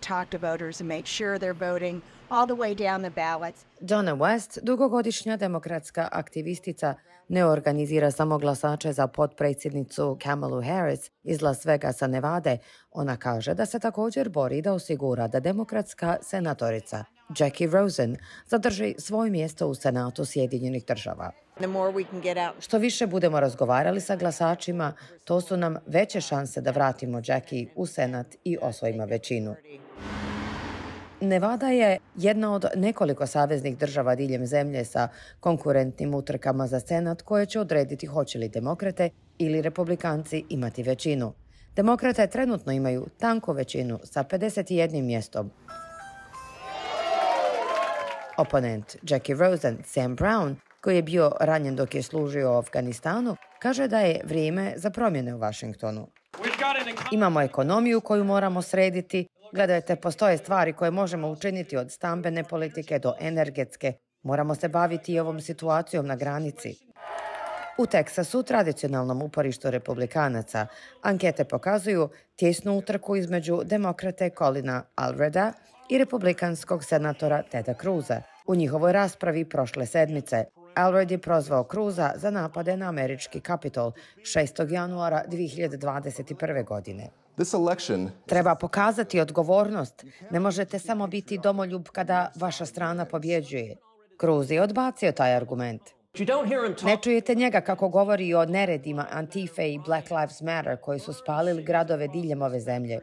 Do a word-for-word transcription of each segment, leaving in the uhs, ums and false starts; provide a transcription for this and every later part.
talk to voters and make sure they're voting all the way down the ballots. Donna West, dugogodišnja demokratska aktivistica, ne organizira samo glasače za potpredsjednicu Kamalu Harris iz Las Vegasa, Nevade. Ona kaže da se također bori da osigura da demokratska senatorica Jackie Rosen zadrži svoje mjesto u Senatu Sjedinjenih Država. Što više budemo razgovarali sa glasačima, to su nam veće šanse da vratimo Jackie u Senat i osvojimo većinu. Nevada je jedna od nekoliko saveznih država diljem zemlje sa konkurentnim utrkama za Senat koje će odrediti hoće li demokrate ili republikanci imati većinu. Demokrate trenutno imaju tanku većinu sa pedeset jednim mjestom. Oponent Jackie Rosen, Sam Brown, koji je bio ranjen dok je služio u Afganistanu, kaže da je vrijeme za promjene u Washingtonu. Imamo ekonomiju koju moramo srediti. Gledajte, postoje stvari koje možemo učiniti od stambene politike do energetske. Moramo se baviti i ovom situacijom na granici. U Teksasu, tradicionalnom uporištu republikanaca, ankete pokazuju tjesnu utrku između demokrate Colina Alreda i republikanskog senatora Teda Cruza. U njihovoj raspravi prošle sedmice Alred je prozvao Cruza za napade na američki Kapitol šestog januara dvije hiljade dvadeset prve. godine. Treba pokazati odgovornost. Ne možete samo biti domoljub kada vaša strana pobjeđuje. Cruz je odbacio taj argument. Ne čujete njega kako govori o neredima Antife i Black Lives Matter koji su spalili gradove diljem ove zemlje.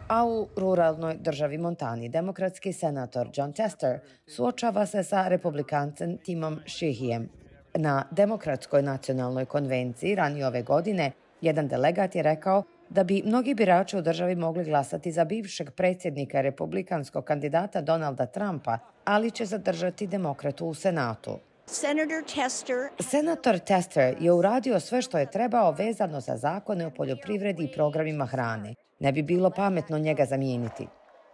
A u ruralnoj državi Montani demokratski senator Jon Tester suočava se sa republikancem Timom Sheehyem. Na Demokratskoj nacionalnoj konvenciji ranije ove godine jedan delegat je rekao da bi mnogi birači u državi mogli glasati za bivšeg predsjednika republikanskog kandidata Donalda Trumpa, ali će zadržati demokratu u Senatu. Senator Tester. Senator Tester je uradio sve što je trebao vezano za zakone o poljoprivredi i programima hrane. Ne bi bilo pametno njega zamijeniti.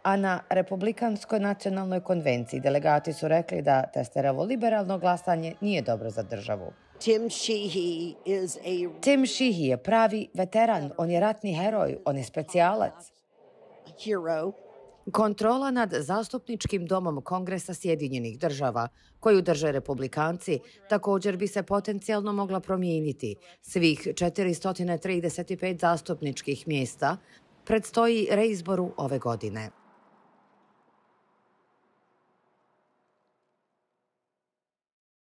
A na Republikanskoj nacionalnoj konvenciji delegati su rekli da Testerovo liberalno glasanje nije dobro za državu. Tim Sheehy is a Tim Sheehy je pravi veteran, on je ratni heroj, on je specijalac. hero. Kontrola nad zastupničkim domom Kongresa Sjedinjenih Država, koju drže republikanci, također bi se potencijalno mogla promijeniti. Svih četiristo trideset pet zastupničkih mjesta predstoji reizboru ove godine.